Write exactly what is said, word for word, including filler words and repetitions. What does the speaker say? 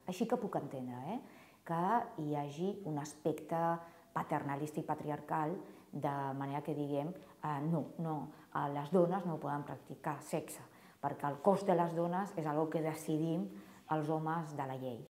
Així que puc entendre eh, que hi hagi un aspecte paternalista i patriarcal, de manera que diguem eh, no, no, les dones no poden practicar sexe, perquè el cos de les dones és una cosa que decidim els homes de la llei.